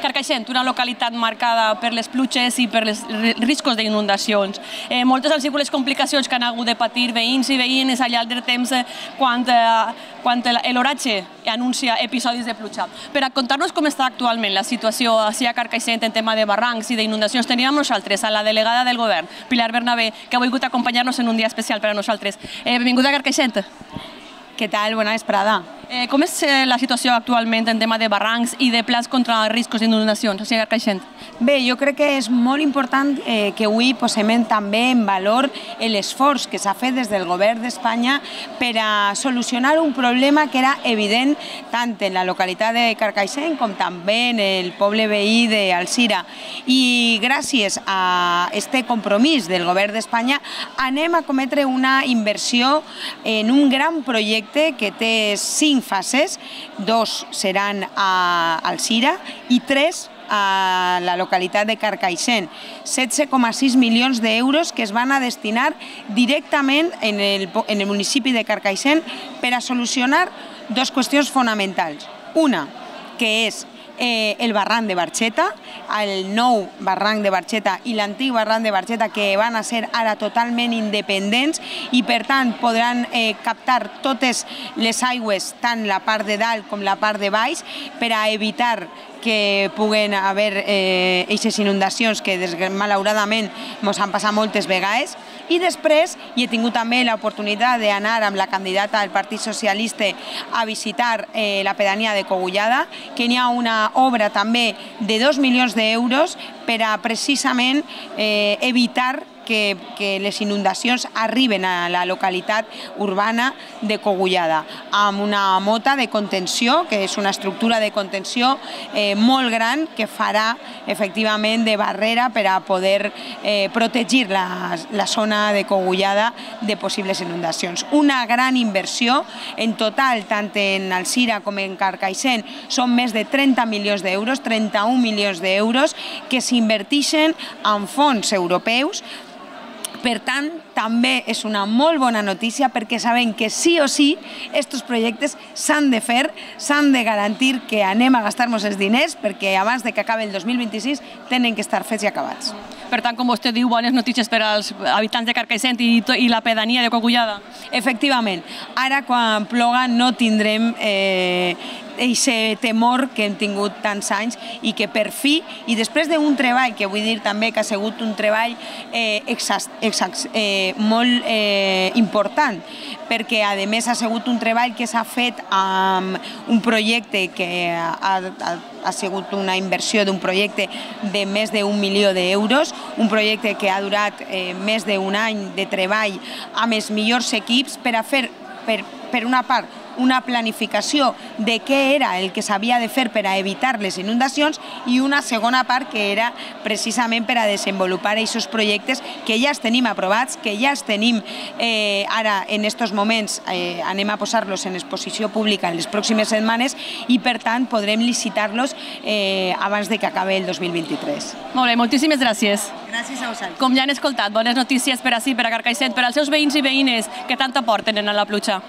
Carcaixent, una localitat marcada per les pluges i per els riscos d'inundacions. Moltes han sigut les complicacions que han hagut de patir veïns i veïnes al llarg del temps quan l'oratge anuncia episodis de pluja. Per a contar-nos com està actualment la situació ací a Carcaixent en tema de barrancs i d'inundacions, tenim amb nosaltres a la delegada del govern, Pilar Bernabé, que ha volgut acompanyar-nos en un dia especial per a nosaltres. Benvinguda a Carcaixent. Què tal? Bona vesprada. Com és la situació actualment en tema de barrancs i de plans contra riscos d'inundacions a Carcaixent? Bé, jo crec que és molt important que avui posem també en valor l'esforç que s'ha fet des del govern d'Espanya per a solucionar un problema que era evident tant en la localitat de Carcaixent com també en el poble veí d'Alzira. I gràcies a aquest compromís del govern d'Espanya anem a cometre una inversió en un gran projecte que té 5 fases, 2 seran a Alzira i 3 a la localitat de Carcaixent. 16,6 milions d'euros que es van a destinar directament en el municipi de Carcaixent per a solucionar 2 qüestions fonamentals. Una, que és el barranc de Barxeta, el nou barranc de Barxeta i l'antic barranc de Barxeta, que van a ser ara totalment independents i per tant podran captar totes les aigües, tant la part de dalt com la part de baix, per a evitar que puguen haver aquestes inundacions que malauradament ens han passat moltes vegades. I després he tingut també l'oportunitat d'anar amb la candidata del Partit Socialista a visitar la pedania de Cogullada, que hi ha una obra també de 2 milions d'euros per a precisament evitar que les inundacions arriben a la localitat urbana de Cogullada, amb una mota de contenció, que és una estructura de contenció molt gran que farà efectivament de barrera per a poder protegir la zona de Cogullada de possibles inundacions. Una gran inversió, en total, tant en Alzira com en Carcaixent, són més de 30 milions d'euros, 31 milions d'euros, que s'inverteixen en fons europeus. Per tant, també és una molt bona notícia perquè sabem que sí o sí aquests projectes s'han de fer, s'han de garantir que anem a gastar-nos els diners perquè abans que acabi el 2026 tenen que estar fets i acabats. Per tant, com vostè diu, bones notícies per als habitants de Carcaixent i la pedania de Cogullada. Efectivament, ara quan ploga no tindrem aquest temor que hem tingut tants anys i que per fi, i després d'un treball, que vull dir també que ha sigut un treball molt important, perquè a més ha sigut un treball que s'ha fet amb un projecte que ha sigut una inversió d'un projecte de més d'1 milió d'euros, un projecte que ha durat més d'un any de treball amb els millors equips per a fer, per una part, una planificació de què era el que s'havia de fer per a evitar les inundacions i una segona part que era precisament per a desenvolupar aquests projectes que ja els tenim aprovats, que ja els tenim ara en aquests moments, anem a posar-los en exposició pública en les pròximes setmanes i per tant podrem licitar-los abans que acabi el 2023. Molt bé, moltíssimes gràcies. Gràcies a vosaltres. Com ja han escoltat, bones notícies per ací, per a Carcaixent, per als seus veïns i veïnes que tant aporten a la pluja.